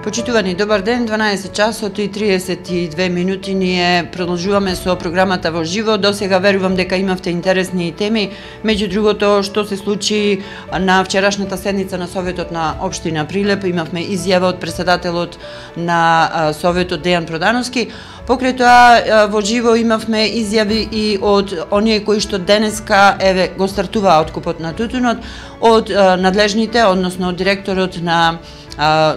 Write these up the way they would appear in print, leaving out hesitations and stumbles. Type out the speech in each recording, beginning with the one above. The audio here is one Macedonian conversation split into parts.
Почитувани, добар ден, 12 часот и 32 минути ние продолжуваме со програмата во живо. До сега верувам дека имавте интересни теми. Меѓу другото, што се случи на вчерашната седница на Советот на Општина Прилеп, имавме изјава од председателот на Советот Дејан Продановски. Покрај тоа, во живо имавме изјави и од оние кои што денеска го стартуваа откупот на тутунот, од надлежните, односно од директорот на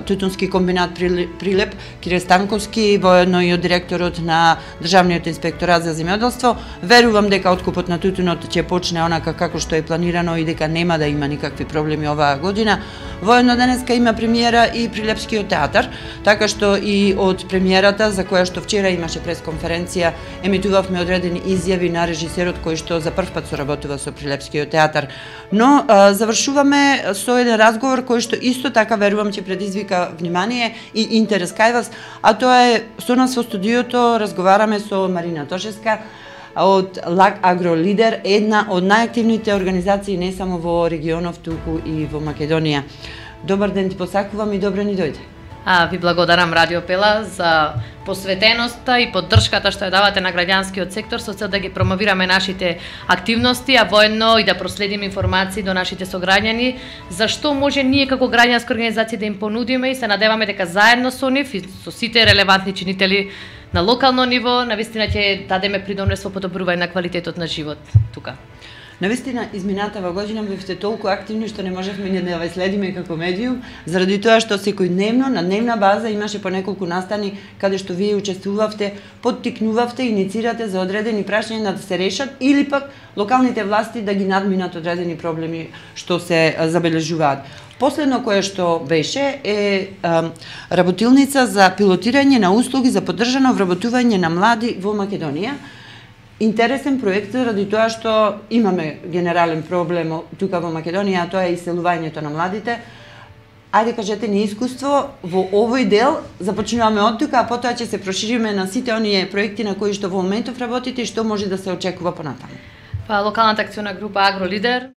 Тутунски комбинат Прилеп, Кире Станковски, воедно и од директорот на Државниот инспекторат за земјоделство. Верувам дека откупот на тутунот ќе почне онака како што е планирано и дека нема да има никакви проблеми оваа година. Воедно денеска има премиера и Прилепскиот театар, така што и од премиерата, за која што вчера имаше пресконференција, емитувавме одредени изјави на режисерот кој што за прв пат соработува со Прилепскиот театар. Но завршуваме со еден разговор кој што исто така верувам ќе предизвика внимание и интерес кај вас, а тоа е со нас во студиото разговараме со Марина Тошевска од ЛАК Агро Лидер, една од најактивните организации не само во регионов, туку и во Македонија. Добар ден ти посакувам и добро ни дојде. Ви благодарам Радио Пела за посветеноста и поддршката што ја давате на граѓанскиот сектор со цел да ги промовираме нашите активности, а воедно и да проследиме информации до нашите сограѓани за што може ние како граѓанска организација да им понудиме и се надеваме дека заедно со нив и со сите релевантни чинители на локално ниво навистина ќе дадеме придонес во подобрување на квалитетот на живот тука. Навистина, изминатава година бевте толку активни што не можевме ни да ве следиме како медиум, заради тоа што секојдневно, на дневна база имаше по неколку настани каде што вие учествувавте, поттикнувавте, иницирате за одредени прашања да се решат или пак локалните власти да ги надминат одредени проблеми што се забележуваат. Последно кое што беше е работилница за пилотирање на услуги за поддржано вработување на млади во Македонија. Интересен проект заради тоа што имаме генерален проблем тука во Македонија, а тоа е иселувањето на младите. Ајде кажете ни искуство во овој дел, започнуваме од тука, а потоа ќе се прошириме на сите оние проекти на кои што во моментов работите и што може да се очекува понатаму. Локалната акционна група Агро Лидер,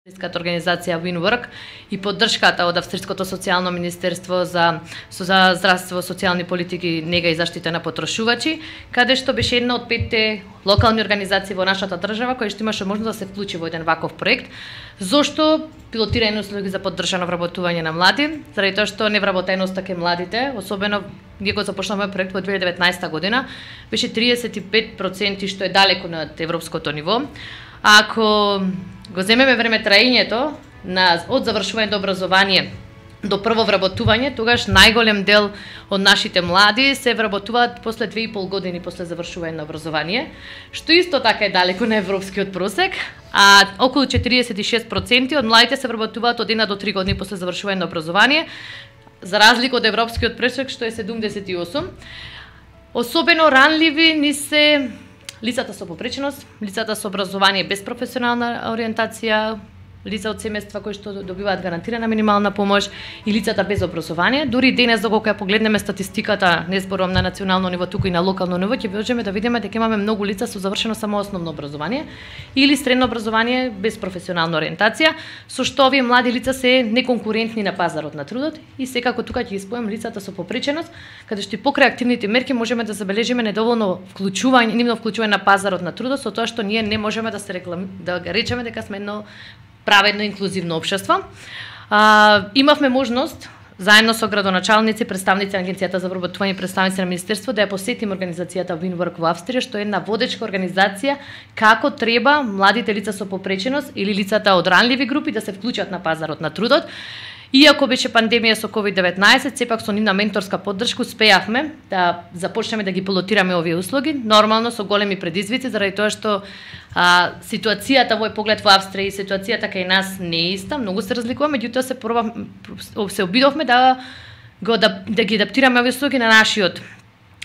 организација WinWork и поддршката од Австриското социјално министерство за здравство, социјални политики, нега и заштита на потрошувачи, каде што беше една од 5 локални организации во нашата држава која што имаше можност да се вклучи во еден ваков проект. Зошто пилотирање услуги за поддржано вработување на млади? Заради тоа што невработеноста кај младите, особено ние го започнавме проект во 2019 година, беше 35%, што е далеку над европското ниво. Ако го земеме време траењето од завршување до образование до прво вработување, тогаш најголем дел од нашите млади се вработуваат после 2,5 години после завршување на образование, што исто така е далеку на европскиот просек, а околу 46% од младите се вработуваат од 1 до 3 години после завршување на образование, за разлика од европскиот просек што е 78. Особено ранливи ни се лицата со попреченост, лицата со образование без професионална ориентација, лица од семејства кои што добиваат гарантирана минимална помош и лицата без образование. Дури денес кога ја погледнеме статистиката, не зборувам на национално ниво, туку и на локално ниво, ќе можеме да видиме дека имаме многу лица со завршено само основно образование или средно образование без професионална ориентација, со што овие млади лица се неконкурентни на пазарот на трудот и секако тука ќе испојам лицата со попреченост, каде што и покрај активните мерки можеме да забележиме недоволно вклучување на пазарот на трудот, со тоа што ние не можеме да речеме дека сме едно праведно инклузивно општество. Имавме можност заедно со градоначалници, представници на Агенцијата за вработување и представници на Министерство да ја посетиме организацијата WinWork во Австрија, што е една водечка организација како треба младите лица со попреченост или лицата од ранливи групи да се вклучат на пазарот на трудот. Иако беше пандемија со COVID-19, сепак со нивна менторска поддршка успеавме да започнеме да ги пилотираме овие услуги, нормално со големи предизвици, заради тоа што ситуацијата во поглед во Австрија и ситуацијата кај нас не е иста, многу се разликува, меѓутоа се обидовме да ги адаптираме овие услуги на нашиот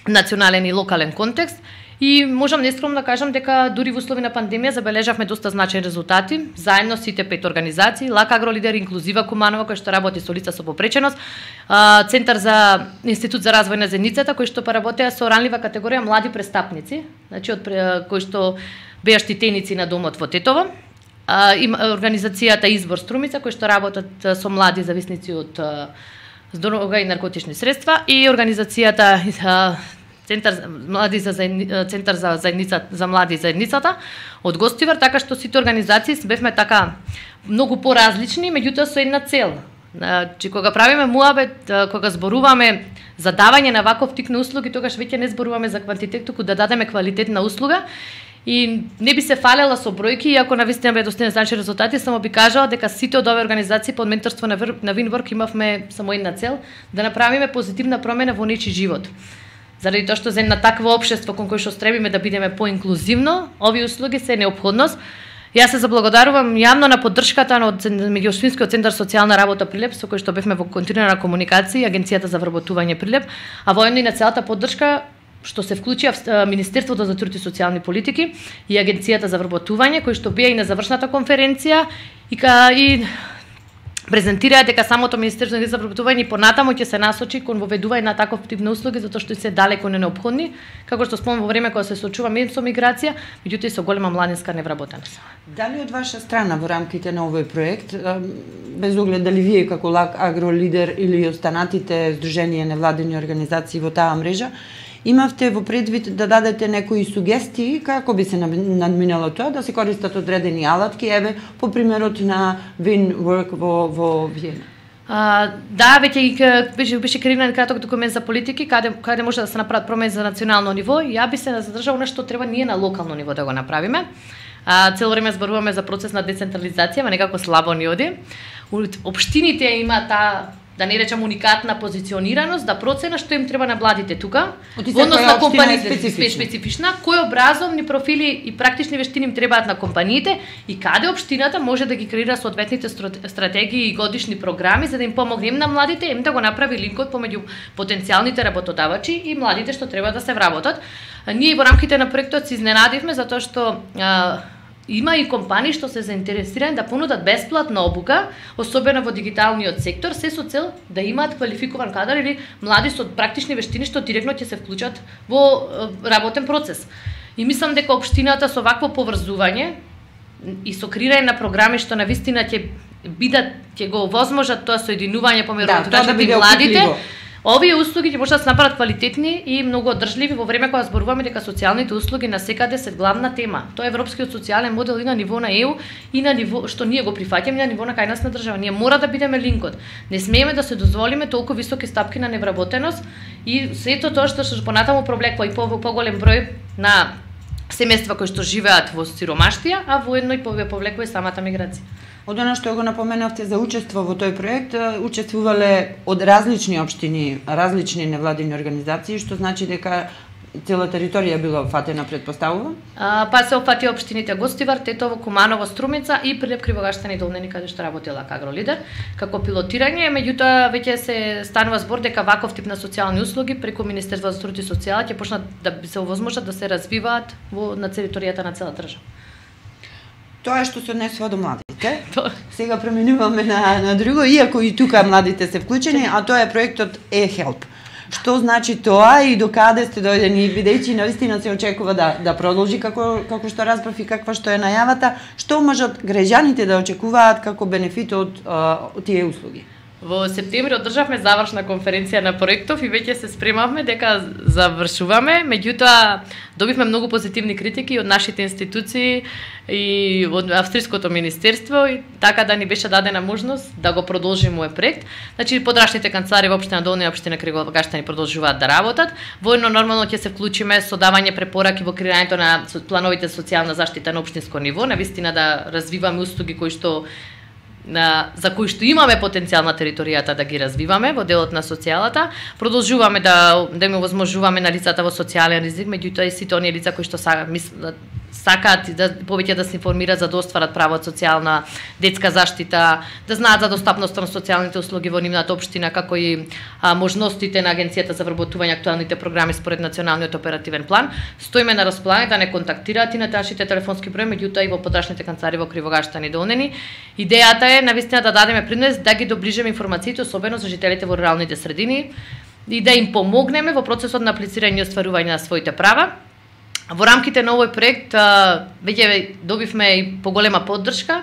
национален и локален контекст. И можам нескромно да кажам дека дури во услови на пандемија забележавме доста значајни резултати, заедно сите 5 организации, ЛАК Агро Лидер, Инклузива Куманова, кој што работи со лица со попреченост, Центар за Институт за развој на заедницата, кој што поработеа со ранлива категорија млади престапници, значи од кои што беа штитеници на домот во Тетово, Има организацијата Избор Струмица, кои што работат со млади зависници од дрога и наркотични средства, и организацијата Центар за заедница за млади заедницата од Гостивар, така што сите организации бевме така многу поразлични, меѓутоа со една цел. Значи, кога правиме муабет, кога зборуваме за давање на ваков тип на услуги, тогаш веќе не зборуваме за квантитет, туку да дадеме квалитетна услуга. И не би се фалела со бројки, иако навистина бе достигнати значи резултати, само би кажала дека сите од овие организации под менторство на Винворк имавме само една цел, да направиме позитивна промена во нечи живот. Заради тоа што за една таква општество кон кој што стребиме да бидеме поинклузивно, овие услуги се неопходност. Јас се заблагодарувам јавно на поддршката на Меѓуопштинскиот центар социјална работа Прилеп, со кој што бевме во континуирана комуникација, Агенцијата за вработување Прилеп, а воедно и на целата поддршка што се вклучија Министерството за труд и социјални политики и Агенцијата за вработување, кои што беа и на завршната конференција и презентираа дека самото Министерство за вработување понатаму ќе се насочи кон воведување на таков тип на услуги, затоа што се далеко неопходни, како што спомнам во време кога се соочуваме со миграција, меѓутоа и со голема младинска невработеност. Дали од ваша страна во рамките на овој проект, без оглед дали вие како ЛАК Агролидер или останатите здруженија невладини организации во таа мрежа, имавте во предвид да дадете некои сугестии како би се надминало тоа, да се користат одредени алатки, еве по примерот на Винворк во Виена? Да, веќе беше креиран краток документ за политики, каде може да се направат промени за национално ниво. Ја би се задржала на што треба ние на локално ниво да го направиме. Цело време зборуваме за процес на децентрализација, ма некако слабо ни оди. Општините има таа, да не речам, уникатна позиционираност, да процена што им треба на младите тука, односно компаниите специфична, кои образовни профили и практични вештини им требаат на компаниите и каде општината може да ги креира соодветните стратегии и годишни програми за да им помогне на младите, им да го направи линкот помеѓу потенцијалните работодавачи и младите што треба да се вработат. Ние во рамките на проектот се изненадивме затоа што има и компании што се заинтересирани да понудат бесплатна обука, особено во дигиталниот сектор, се со цел да имаат квалификуван кадар или млади со практични вештини што директно ќе се вклучат во работен процес. И мислам дека општината со вакво поврзување и со креирање на програми што навистина ќе го овозможат тоа соединување помеѓу и младите, овие услуги ќе можат да се направат квалитетни и многу одржливи во време кога зборуваме дека социјалните услуги насекаде се главна тема. Тоа е европскиот социјален модел и на ниво на ЕУ и на ниво што ние го прифаќаме на ниво на кај нас на држава. Ние мора да бидеме линкот. Не смееме да се дозволиме толку високи стапки на невработеност и сето тоа што понатаму провлекува и поголем број на семејства кои што живеат во сиромаштија, а воедно и повлекува и самата миграција. Од она што го напоменавте за учество во тој проект, учествувале од различни општини, различни невладини организации, што значи дека цела територија била опфатена, предпоставувам? Па се опфати општините Гостивар, Тетово, Куманово, Струмица и Прилеп, Кривогаштани и Долнени, каде што работи ЛАК Агролидер како пилотирање, меѓутоа веќе се станува збор дека ваков тип на социјални услуги преку Министерството за труд и социјала ќе почнат да се овозможат да се развиваат на територијата на цела држава. Тоа е што се однесува до младите. Сега преминуваме на друго, иако и тука младите се вклучени, а тоа е проектот eHelp. Што значи тоа и до каде сте дојдени, бидејќи навистина се очекува да продолжи како што разбрав и каква што е најавата, што можат граѓаните да очекуваат како бенефит од тие услуги? Во септември одржавме завршна конференција на проектов и веќе се спремавме дека завршуваме, меѓутоа добивме многу позитивни критики од нашите институции и од австриското министерство и така да ни беше дадена можност да го продолжиме овој проект. Значи подрачните канцелари во општина Долна и општина Кривогаштани продолжуваат да работат. Воедно нормално ќе се вклучиме со давање препораки во креирањето на плановите социјална заштита на општинско ниво, навистина да развиваме услуги кои што за кои што имаме потенцијал на територијата да ги развиваме во делот на социјалата. Продолжуваме да им овозможуваме на лицата во социјален ризик, меѓутоа и сите оние лица кои што сакаат повеќе да се информираат за да остварат право од социјална детска заштита, да знаат за достапноста на социјалните услуги во нивната општина, како и можностите на Агенцијата за вработување, актуелните програми според националниот оперативен план. Стоиме на располагање да не контактираат и на нашите телефонски број, меѓутоа и во подрачните канцелари во Кривогаштани и Долнени. Идејата е навистина да дадеме принос да ги доближиме информациите, особено за жителите во руралните средини и да им помогнеме во процесот на аплицирање и остварување на своите права. Во рамките на овој проект веќе добивме и поголема поддршка,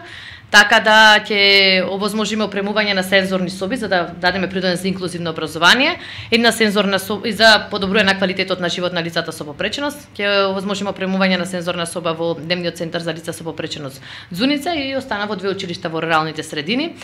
така да ќе овозможиме опремување на сензорни соби за да дадеме придонес за инклузивно образование, една сензорна соба и за подобрување на квалитетот на живот на лицата со попреченост, ќе овозможиме опремување на сензорна соба во дневниот центар за лица со попреченост Зуница и остана во 2 училишта во руралните средини.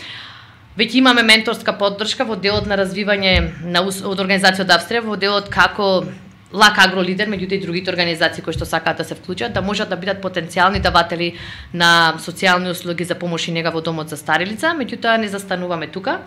Веќе имаме менторска поддршка во делот на развивање од организацијата Австрија, во делот како Лак Агро Лидер, меѓу и другите организации кои што сакаат да се вклучат, да можат да бидат потенцијални даватели на социјални услуги за помош и нега во домот за стари лица, меѓутоа не застануваме тука.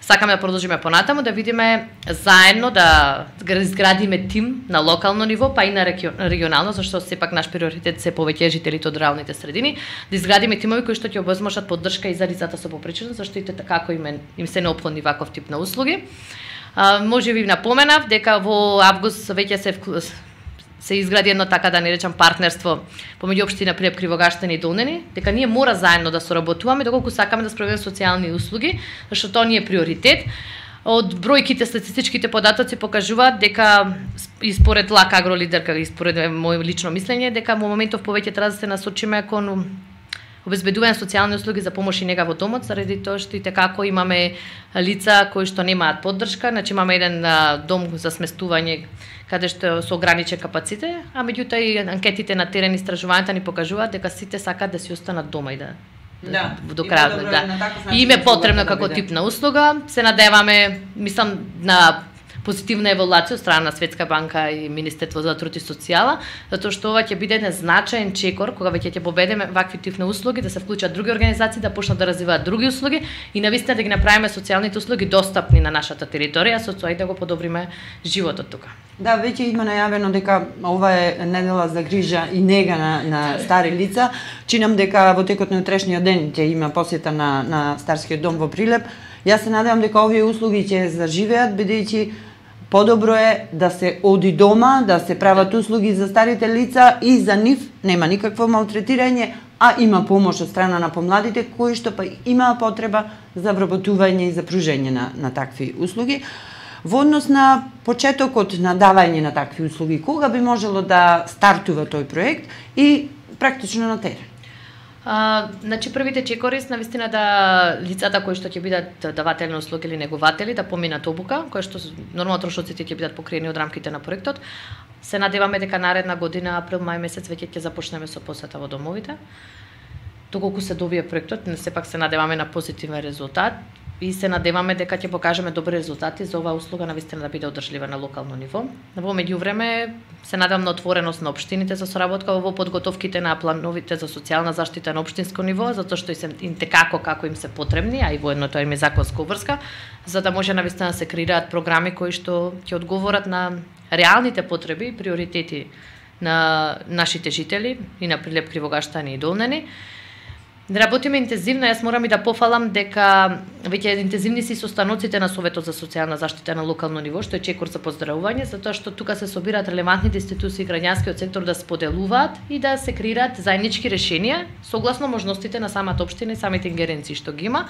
Сакаме да продолжиме понатаму, да видиме заедно да изградиме тим на локално ниво, па и на регионално, зашто сепак наш приоритет се повеќе жителите од руралните средини, да изградиме тимови кои што ќе овозможат поддршка и за лицата со попреченост, зашто и како им се неопходни ваков тип на услуги. Може би напоменав дека во август веќе се изгради едно, така да не речам, партнерство помеѓу општина Прилеп, Кривогаштани и Долнени, дека ние мора заедно да соработуваме доколку сакаме да спроведеме социјални услуги, зашто тоа ни е приоритет. Од бројките, статистичките податоци покажуваат дека и според Лак Агро Лидер, и според моје лично мислење, дека во моментов повеќе треба да се насочиме кон обезбедување социјални услуги за помош и нега во домот, заради тоа што и како имаме лица кои што немаат поддршка, значи имаме еден дом за сместување каде што со ограничен капацитет, а меѓутоа и анкетите на терен истражувањата ни покажуваат дека сите сакаат да си останат дома и до крајот, И им е потребно како тип на услуга. Се надеваме, мислам, на позитивна еволуација од страна на Светска банка и Министерство за труд и социјала, затоа што ова ќе биде еден значаен чекор кога веќе ќе победиме вакви тип на услуги, да се вклучат други организации, да почнат да развиваат други услуги и навистина да ги направиме социјалните услуги достапни на нашата територија, со тоа и да го подобриме животот тука. Да, веќе има најавено дека ова е недела за грижа и нега на стари лица. Чинам дека во текот на утрешниот ден ќе има посета на Старскиот дом во Прилеп. Јас се надевам дека овие услуги ќе заживеат, бидејќи подобро е да се оди дома, да се прават услуги за старите лица и за нив нема никакво малтретирање, а има помош од страна на помладите кои што па имаа потреба за вработување и за пружење на такви услуги. Во однос на почетокот на давање на такви услуги, кога би можело да стартува тој проект и практично на терен? Значи првите чекори се навистина да лицата кои што ќе бидат даватели на услуги или негователи да поминат обука, која што нормално трошоците ќе бидат покриени од рамките на проектот. Се надеваме дека наредна година, април, мај месец веќе ќе започнеме со посета во домовите. Доколку се довие проектот, не сепак се надеваме на позитивен резултат и се надеваме дека ќе покажеме добри резултати за оваа услуга навистина да биде одржлива на локално ниво. Во меѓувреме се надевам на отвореност на општините за соработка во подготовките на плановите за социјална заштита на општинско ниво, затоа што и се како им се потребни, а и воедно тоа им е законска обврска, за да може навистина да се креираат програми кои што ќе одговорат на реалните потреби и приоритети на нашите жители и на Прилеп, Кривогаштани и Долнени. Работиме интензивно, јас морам и да пофалам дека веќе интензивни се состаноците на Советот за социјална заштита на локално ниво, што е чекор за поздравување, затоа што тука се собираат релевантните институции и граѓанскиот сектор да споделуваат и да се креираат заеднички решенија согласно можностите на самата општина и самите ингеренции што ги има.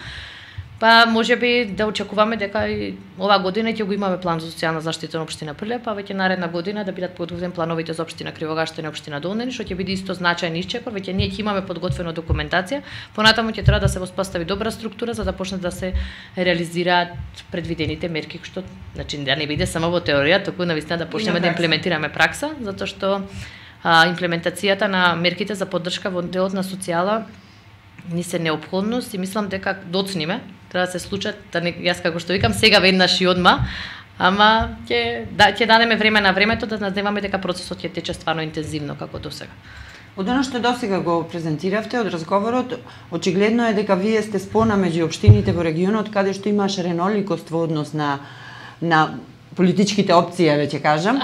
Па можеби да очекуваме дека и оваа година ќе го имаме план за социјална заштита на општина Прилеп, па веќе наредна година да бидат подготвени плановите за општина Кривогаштани и општина Долнени, што ќе биде исто значаен исчекор, веќе ние ќе имаме подготвена документација, понатаму ќе треба да се воспостави добра структура за да почнат да се реализираат предвидените мерки, што значи да не биде само во теорија, туку навистина да почнеме да имплементираме пракса, затоа што имплементацијата на мерките за поддршка во делот на социјала ни се неопходност и мислам дека доцниме, треба да се случат, јас како што викам, сега веднаш и одма, ама ќе дадеме време на времето да надеваме дека процесот ќе тече стварно интензивно како досега. Од оно што досега го презентиравте од разговорот, очигледно е дека вие сте спона меѓу општините во регионот каде што имаш реноликост во однос на политичките опции, веќе кажам.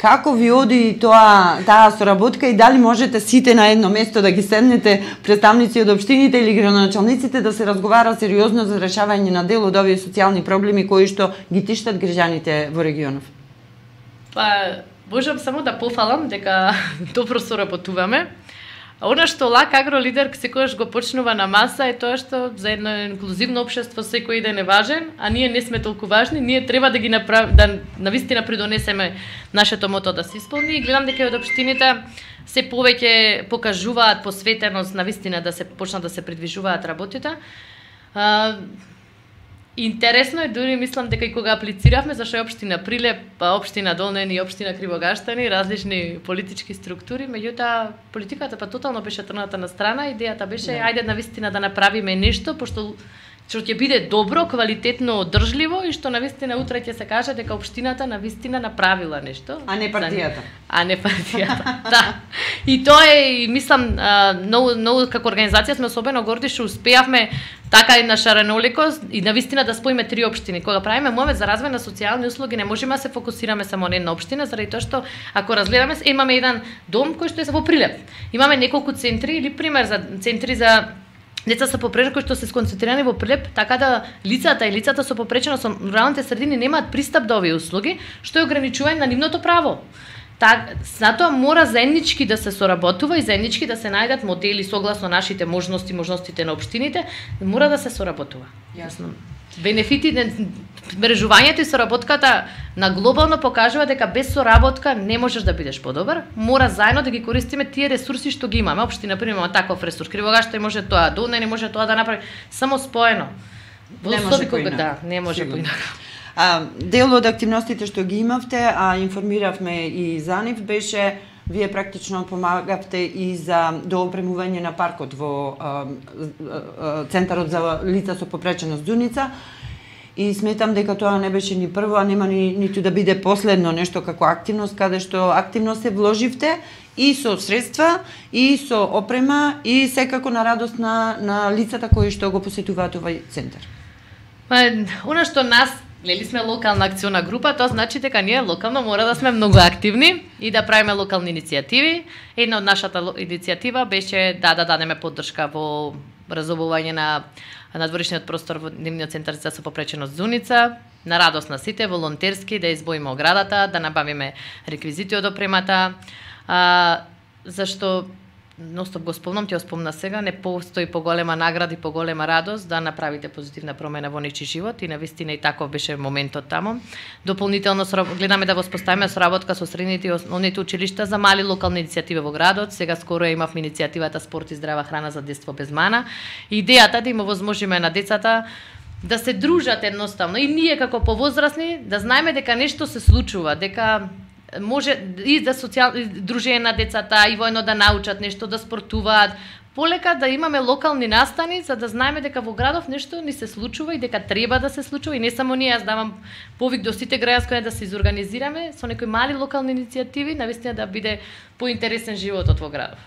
Како ви оди таа соработка и дали можете сите на едно место да ги седнете представници од општините или градоначалниците да се разговара сериозно за решавање на дел од овие социјални проблеми кои што ги тиштат граѓаните во регионов? Па, можам само да пофалам дека добро соработуваме. Она што Лак Агролидер секогаш го почнува на маса е тоа што за едно инклузивно општество секој ден е важен, а ние не сме толку важни, ние треба да ги да навистина придонесеме нашето мото да се исполни и гледам дека од општините се повеќе покажуваат посветеност навистина да се почнат да се придвижуваат работите. Интересно е, дури мислам дека и кога аплициравме, зашто е општина Прилеп, па општина Долнени и општина Кривогаштани, различни политички структури, меѓутоа политиката па тотално беше трната на страна, идејата беше ајде навистина да направиме нешто, пошто што ќе биде добро, квалитетно, одржливо и што навистина утре ќе се каже дека општината навистина направила нешто, а не партијата. Да. И тоа е, мислам, многу како организација сме особено горди што успеавме така и на шареноликост и навистина да споиме 3 општини. Кога правиме момент за развој на социјални услуги, не можеме да се фокусираме само на една општина, заради тоа што ако разгледаме, имаме еден дом кој што е во Прилеп. Имаме неколку центри или пример за центри за деца со попреченост кои што се сконцентрирани во Прилеп, така да лицата со попреченост со руралните средини немаат пристап до овие услуги, што е ограничување на нивното право. Затоа мора заеднички да се соработува и заеднички да се најдат модели согласно нашите можностите на општините, мора да се соработува. Јасно. Бенефитите, мрежувањето и соработката на глобално покажува дека без соработка не можеш да бидеш подобар. Мора заедно да ги користиме тие ресурси што ги имаме. Општина примерно таков ресурс. Кривогашта може тоа, Долна не може тоа да направи, само споено. Не може поинаку. Да, не може поинаку. Дел од активностите што ги имавте, а информиравме и за нив, беше вие практично помагавте и за доопремување на паркот во Центарот за лица со попреченост Дуница. И сметам дека тоа не беше ни прво, а нема ниту да биде последно нешто како активност, каде што активно се вложивте и со средства, и со опрема, и секако на радост на лицата кои што го посетуваат овој центар. Она што нас Лели сме локална акциона група, тоа значи дека ние локално мора да сме многу активни и да правиме локални иницијативи. Една од нашата иницијатива беше да дадеме поддршка во разобување на надворешниот простор во Дневниот центар за попреченост Зуница, на радост на сите, волонтерски, да избоиме оградата, да набавиме реквизити од опремата, зашто ностоп го спомнам, ќе спомна сега, не постои поголема награда и поголема радост да направите позитивна промена во нечи живот и навистина и таков беше моментот таму. Дополнително гледаме да воспоставиме соработка со средните и основните училишта за мали локални иницијативи во градот. Сега скоро имавме иницијативата Спорт и здрава храна за детство без мана. Идејата да им овозможиме на децата да се дружат едноставно и ние како повозрасни да знаеме дека нешто се случува, дека може и да дружење на децата и воено да научат нешто, да спортуваат, полека да имаме локални настани за да знаеме дека во градов нешто ни се случува и дека треба да се случува и не само ние, јас давам повик до сите граѓански да се изорганизираме со некои мали локални иницијативи, навистина да биде поинтересен животот во градов.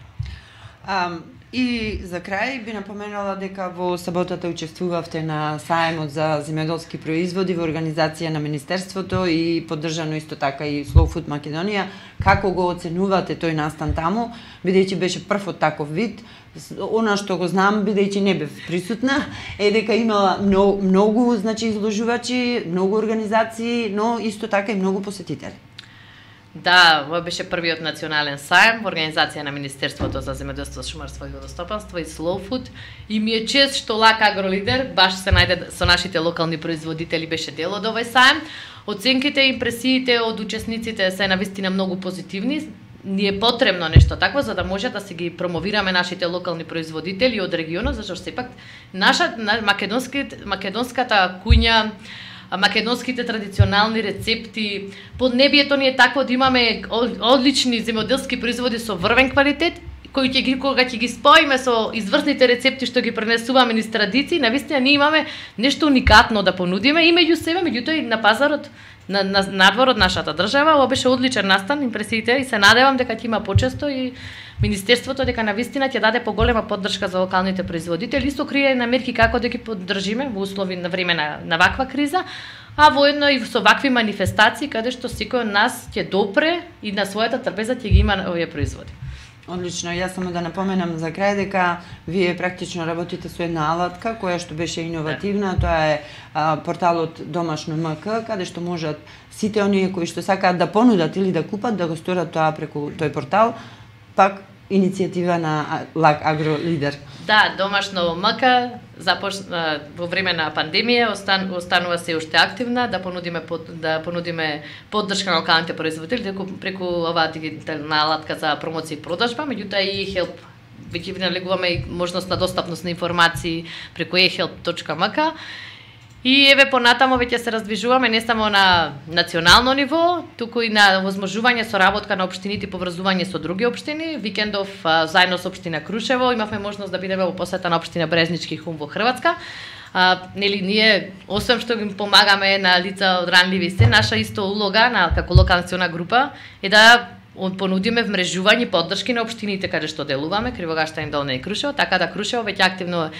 И за крај би напоменала дека во саботата учествувавте на сајмот за земјоделски производи во организација на Министерството и поддржано исто така и Slow Food Македонија. Како го оценувате тој настан таму, бидејќи беше прв од таков вид? Она што го знам, бидејќи не бев присутна, е дека имала многу изложувачи, многу организации, но исто така и многу посетители. Да, ова беше првиот национален сајм во организација на Министерството за земјоделство, шумарство и водостопанство и Slow Food. И ми е чест што Лак Агролидер баш се најде со нашите локални производители беше дел од овој сајм. Оценките и импресиите од учесниците се навистина многу позитивни. Ни е потребно нешто такво за да може да се ги промовираме нашите локални производители од регионот, зашто сепак македонската куња, македонските традиционални рецепти, поднебието ни е такво да имаме одлични земјоделски производи со врвен квалитет, кои кога ќе ги споиме со изврсните рецепти што ги пренесуваме низ традиции, навистина ние имаме нешто уникатно да понудиме и меѓу себе, меѓутоа и на пазарот, на надвор од нашата држава. Ова беше одличен настан, импресиите, и се надевам дека ќе има почесто и Министерството дека навистина ќе даде поголема поддршка за локалните производители и со креирање на мерки како да ги поддржиме во услови на време на ваква криза, а воедно и со вакви манифестации каде што секој од нас ќе допре и на својата трпеза ќе ги има овие производи. Одлично, јас само да напоменам за крај дека вие практично работите со една алатка која што беше иновативна, тоа е порталот Домашно МК, каде што можат сите оние кои што сакаат да понудат или да купат да го сторат тоа преку тој портал, пак иницијатива на Лак Агро Лидер. Да, домашно МК започна во време на пандемија, останува се уште активна да понудиме поддршка на локалните производители преку оваа дигитална алатка за промоција и продажба, меѓутоа и eHelp веќе налегуваме и можност на достапност на информации преку eHelp.mk. И еве понатамо веќе се раздвижуваме не само на национално ниво, туку и на возможување соработка на општините и поврзување со други општини. Викендов заедно со општина Крушево имавме можност да бидеме во посета на општина Брезнички и Хум во Хрватска. Нели ние освен што им помагаме на лица од ранливи се, наша исто улога како локална национална група е да понудиме вмрежување и поддршки на општините каде што делуваме, Кривогаштан, Долна и Крушево, така да Крушево веќе активно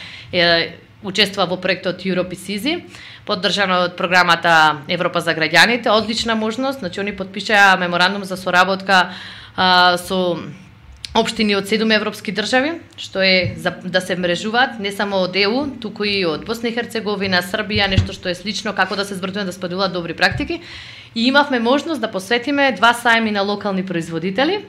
учествува во проектот Europe is Easy, поддржано од програмата Европа за граѓаните. Одлична можност, значи они потпишаа меморандум за соработка со општини од 7 европски држави, што е да се мрежуваат не само од ЕУ, туку и од Босна и Херцеговина, Србија, нешто што е слично, како да се збртуваме да споделуваат добри практики. И имавме можност да посветиме 2 сајми на локални производители.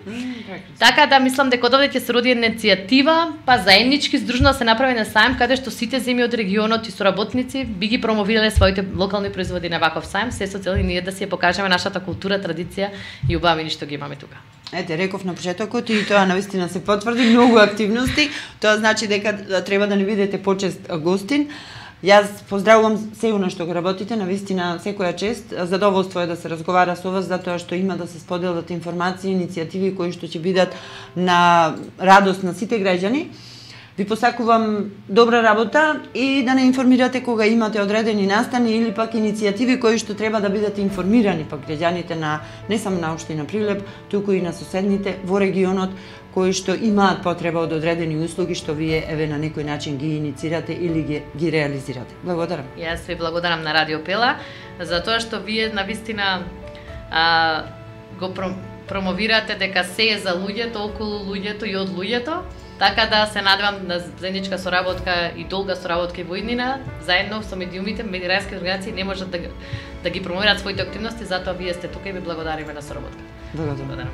Така да мислам дека од овде ќе се роди една иницијатива, па заеднички здружно се направи на сајм каде што сите земји од регионот и соработници би ги промовирале своите локални производи на ваков сајм, се со цел и ние да си ја покажеме нашата култура, традиција и убавини што ги имаме тука. Ете, реков на почетокот и тоа навистина се потврди, многу активности. Тоа значи дека треба да не бидете почест гостин. Јас поздравувам сеуна што го работите, навистина секоја чест. Задоволство е да се разговара со вас, затоа што има да се споделат информации, иницијативи кои што ќе бидат на радост на сите граѓани. Ви посакувам добра работа и да не информирате кога имате одредени настани или пак иницијативи кои што треба да бидат информирани пак граѓаните на не само на општина Прилеп, туку и на соседните во регионот кои што имаат потреба од одредени услуги што вие еве на некој начин ги иницирате или ги реализирате. Благодарам. Јас ви благодарам на Радио Пела за тоа што вие навистина го промовирате дека се е за луѓето, околу луѓето и од луѓето. Така да се надевам на заедничка соработка и долга соработка и во иднина, заедно со медиумите, медиумски организации не можат да ги промовираат своите активности, затоа вие сте тука и ви благодариме на соработка. Благодарам.